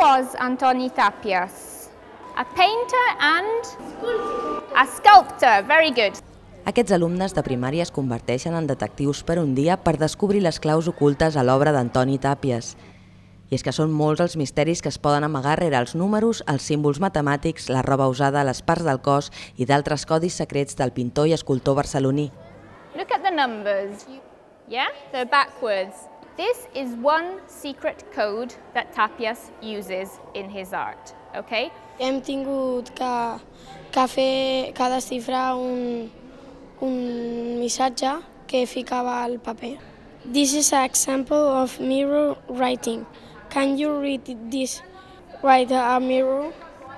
was Antoni Tàpies? A painter and a sculptor. Very good. Aquests alumnes de primària es converteixen en detectius per un dia per descobrir les claus ocultes a l'obra d'Antoni Tàpies. I és que són molts els misteris que es poden amagar rere els números, els símbols matemàtics, la roba usada, les parts del cos i d'altres codis secrets del pintor i escultor barceloní. Look at the numbers. Yeah, they're backwards. This is one secret code that Tàpies uses in his art, okay? Hem tingut que desxifrar un missatge que ficava al paper. This is an example of mirror writing. Can you read this? Write a mirror.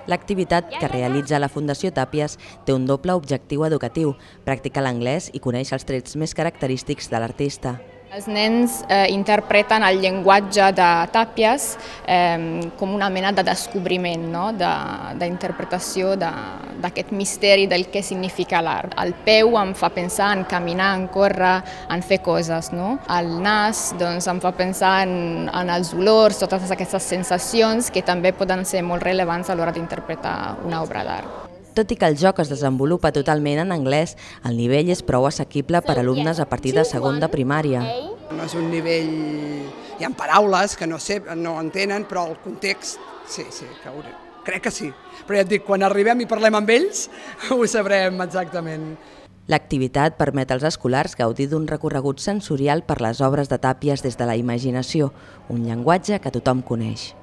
L'activitat que realitza la Fundació Tàpies té un doble objectiu educatiu, practicar l'anglès i conèixer els trets més característics de l'artista. Els nens interpreten el llenguatge de Tàpies com una mena de descobriment, d'interpretació d'aquest misteri del que significa l'art. El peu em fa pensar en caminar, en córrer, en fer coses. El nas em fa pensar en els olors, totes aquestes sensacions que també poden ser molt rellevants a l'hora d'interpretar una obra d'art. Tot i que el joc es desenvolupa totalment en anglès, el nivell és prou assequible per a alumnes a partir de segon de primària. No és un nivell... Hi ha paraules que no entenen, però el context, sí, crec que sí. Però ja et dic, quan arribem i parlem amb ells, ho sabrem exactament. L'activitat permet als escolars gaudir d'un recorregut sensorial per les obres de Tàpies des de la imaginació, un llenguatge que tothom coneix.